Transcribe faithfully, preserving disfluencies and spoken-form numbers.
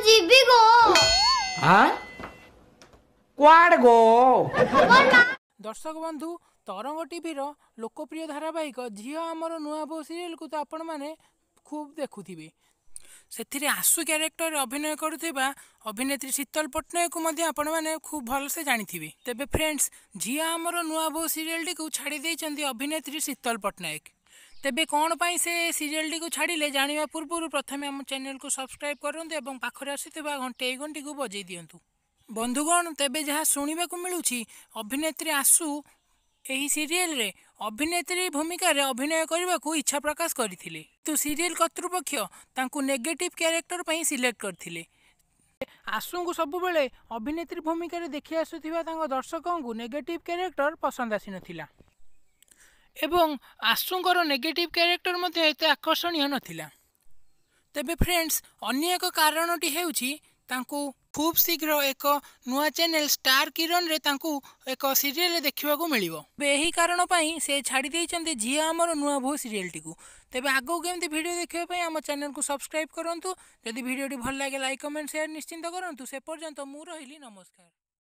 ଯିବି ଗୋ। ଆଁ, କୁଆଡ଼େ ଗୋ? ଦର୍ଶକ ବନ୍ଧୁ, ତରଙ୍ଗ ଟିଭିର ଲୋକପ୍ରିୟ ଧାରାବାହିକ ଝିଅ ଆମର ନୂଆ ବୋହୂ ସିରିଏଲକୁ ତ ଆପଣମାନେ ଖୁବ୍ ଦେଖୁଥିବେ। ସେଥିରେ ଆଶୁ କ୍ୟାରେକ୍ଟରରେ ଅଭିନୟ କରୁଥିବା ଅଭିନେତ୍ରୀ ଶୀତଲ ପଟ୍ଟନାୟକକୁ ମଧ୍ୟ ଆପଣମାନେ ଖୁବ୍ ଭଲସେ ଜାଣିଥିବେ। ତେବେ ଫ୍ରେଣ୍ଡସ୍, ଝିଅ ଆମର ନୂଆ ବୋହୂ ସିରିଏଲଟିକୁ ଛାଡ଼ି ଦେଇଛନ୍ତି ଅଭିନେତ୍ରୀ ଶୀତଲ ପଟ୍ଟନାୟକ। ତେବେ କ'ଣ ପାଇଁ ସେ ସିରିଏଲଟିକୁ ଛାଡ଼ିଲେ ଜାଣିବା ପୂର୍ବରୁ ପ୍ରଥମେ ଆମ ଚ୍ୟାନେଲକୁ ସବସ୍କ୍ରାଇବ୍ କରନ୍ତୁ ଏବଂ ପାଖରେ ଆସୁଥିବା ଘଣ୍ଟି ଆଇକନ୍ଟିକୁ ବଜାଇ ଦିଅନ୍ତୁ। ବନ୍ଧୁଗଣ, ତେବେ ଯାହା ଶୁଣିବାକୁ ମିଳୁଛି, ଅଭିନେତ୍ରୀ ଆଶୁ ଏହି ସିରିଏଲରେ ଅଭିନେତ୍ରୀ ଭୂମିକାରେ ଅଭିନୟ କରିବାକୁ ଇଚ୍ଛା ପ୍ରକାଶ କରିଥିଲେ, କିନ୍ତୁ ସିରିଏଲ କର୍ତ୍ତୃପକ୍ଷ ତାଙ୍କୁ ନେଗେଟିଭ୍ କ୍ୟାରେକ୍ଟର ପାଇଁ ସିଲେକ୍ଟ କରିଥିଲେ। ଆଶୁଙ୍କୁ ସବୁବେଳେ ଅଭିନେତ୍ରୀ ଭୂମିକାରେ ଦେଖି ଆସୁଥିବା ତାଙ୍କ ଦର୍ଶକଙ୍କୁ ନେଗେଟିଭ୍ କ୍ୟାରେକ୍ଟର ପସନ୍ଦ ଆସିନଥିଲା ଏବଂ ଆଶୁଙ୍କର ନେଗେଟିଭ୍ କ୍ୟାରେକ୍ଟର ମଧ୍ୟ ଏତେ ଆକର୍ଷଣୀୟ ନଥିଲା। ତେବେ ଫ୍ରେଣ୍ଡସ୍, ଅନ୍ୟ ଏକ କାରଣଟି ହେଉଛି ତାଙ୍କୁ ଖୁବ୍ ଶୀଘ୍ର ଏକ ନୂଆ ଚ୍ୟାନେଲ ଷ୍ଟାର କିରଣରେ ତାଙ୍କୁ ଏକ ସିରିଏଲରେ ଦେଖିବାକୁ ମିଳିବ। ତେବେ ଏହି କାରଣ ପାଇଁ ସେ ଛାଡ଼ି ଦେଇଛନ୍ତି ଝିଅ ଆମର ନୂଆ ବୋହୂ ସିରିଏଲଟିକୁ। ତେବେ ଆଗକୁ କେମିତି ଭିଡ଼ିଓ ଦେଖିବା ପାଇଁ ଆମ ଚ୍ୟାନେଲକୁ ସବସ୍କ୍ରାଇବ୍ କରନ୍ତୁ। ଯଦି ଭିଡ଼ିଓଟି ଭଲ ଲାଗେ, ଲାଇକ୍, କମେଣ୍ଟ, ସେୟାର ନିଶ୍ଚିନ୍ତ କରନ୍ତୁ। ସେ ପର୍ଯ୍ୟନ୍ତ ମୁଁ ରହିଲି, ନମସ୍କାର।